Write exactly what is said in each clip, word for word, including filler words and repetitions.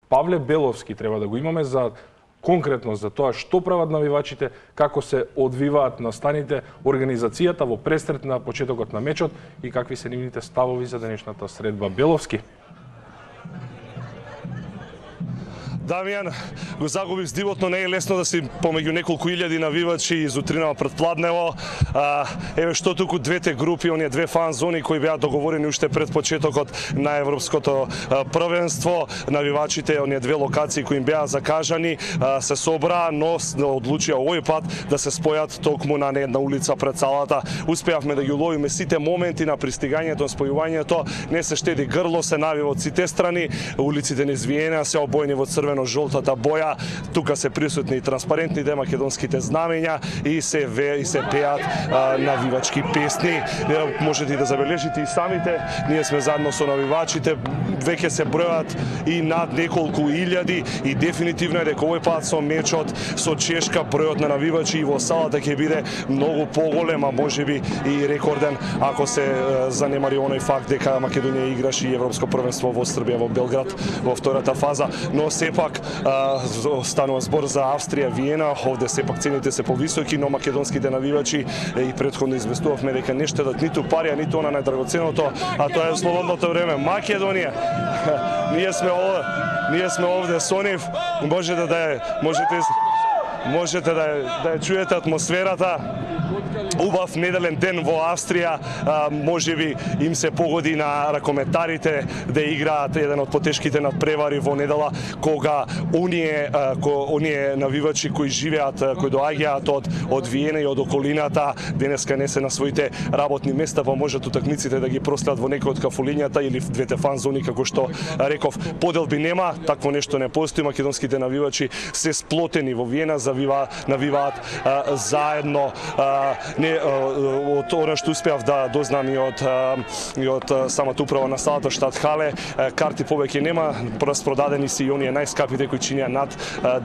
Павле Беловски треба да го имаме за конкретно за тоа што прават навивачите, како се одвиваат настаните, организацијата во престрет на почетокот на мечот и какви се нивните ставови за денешната средба. Беловски. Дамјан, го загубив здивот, но не е лесно да си помеѓу неколку илјади навивачи изутринава пред Пладнево. А, еве што туку двете групи, оние две фан зони кои беа договорени уште пред почетокот на европското а, првенство. Навивачите, оние две локации кои им беа закажани, а, се собраа, но одлучија овој пат да се спојат токму на една улица пред салата. Успеавме да ги уловиме сите моменти на пристигањето, спојувањето, не се штеди грло, се навива од сите страни, улиците низ Виена се обоени во црвено жолтата боја, тука се присутни и транспарентните македонските знамења и се ве и се пеат а, навивачки песни. Можете и да забележите и самите, ние сме заедно со навивачите, веќе се бројат и над неколку илјади и дефинитивно е дека овој пат со мечот со Чешка бројот на навивачи и во салата ќе биде многу поголем, а можеби и рекорден ако се е, занемари оној факт дека Македонија играше и европско првенство во Србија во Белград во втората фаза, но сепак а, станува збор за Австрија, Виена, овде сепак цените се повисоки, но македонските навивачи и претходно известувавме дека не штедат ниту пари, а ниту она најдрагоценото, а тоа е слободното време. Македонија, ние сме овде, ние сме овде со нив, можете да е, можете можете да е, да е чуете атмосферата. Убав неделен ден во Австрија, можеби им се погоди на ракометарите да играат еден од потешките надпревари во недела, кога оние, оние навивачи кои живеат, кои доаѓаат од, од Виена и од околината, денеска не се на своите работни места, па можат утакмиците да ги проследат во некој од кафулињата или в двете фан зони, како што реков. Поделби нема, такво нешто не постои, македонските навивачи се сплотени во Виена, завива, навиваат а, заедно. А, не од она што успеав да дознам и од и од самата управа на салата Штатхале, карти повеќе нема, распродадени се и оние најскапите кои чинеа над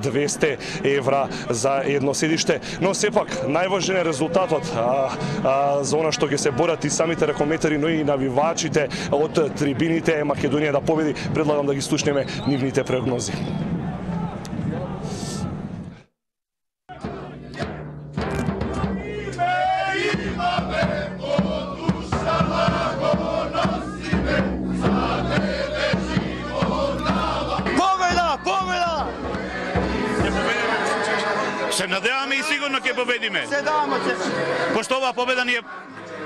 двесте евра за едно седиште, но сепак најважен е резултатот а, а, за она што ќе се борат и самите ракометари, но и навивачите од трибините. Македонија да победи. Предлагам да ги слушнеме нивните прогнози. Се надеваме и сигурно ќе победиме. Се даваме се. Пошто оваа победа ни е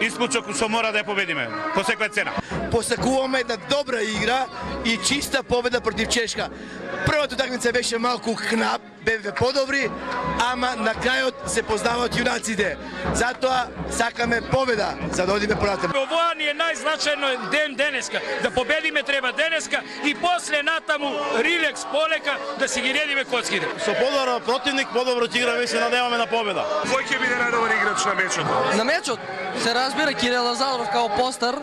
испучок што мора да ја победиме по секоја цена. Посакуваме една добра игра и чиста победа против Чешка. Првата утакмица беше малку кнап, бевме подобри, ама на крајот се познаваат јунаците. Затоа сакаме победа, за да одиме понатаму. Овоа ни е најзначајно ден денеска. Да победиме треба денеска и после натаму рилекс полека да си ги редиме коцките. Со подобар противник, подобро ќе играме и се надеваме на победа. Кој ќе биде најдобар играч на мечот? На мечот се разбира Кирил Лазаров као постар.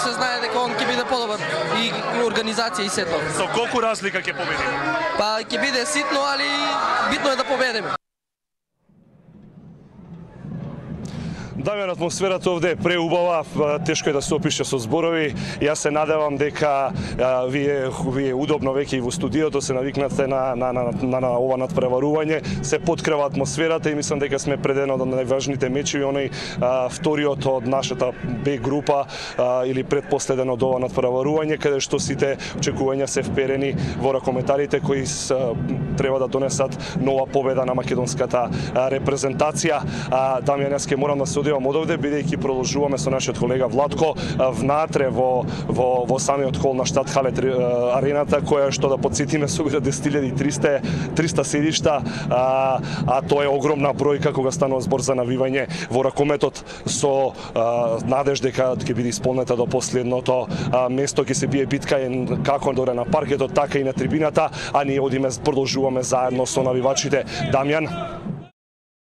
Се знае дека он ќе биде подобар и организација и сето. Со колку разлика ќе победиме? Па ќе биде ситно, али битно е да победиме. Дамјан, атмосферата овде е преубава, тешко е да се опише со зборови. Јас се надевам дека а, вие вие удобно веќе и во студиото се навикнате на на на, на, на ова надпреварување, се поткрива атмосферата и мислам дека сме пред еден од најважните мечеви, оној а, вториот од нашата Б група а, или предпоследен од ова надпреварување, каде што сите очекувања се вперени во ракометарите кои с, а, треба да донесат нова победа на македонската а, репрезентација. А, Дамјан, јас ке морам да се одивам од овде, бидејќи продолжуваме со нашиот колега Владко внатре во во во самиот хол на Штатхале арената, која што да потсетиме собира десет илјади и триста седишта, а, а тоа е огромна бројка кога станува збор за навивање во ракометот со а, надеж дека ќе биде исполнета до последното а, место, ќе се бие битка како доре на паркетот, така и на трибината, а ние одиме продолжуваме заедно со навивачите. Дамјан.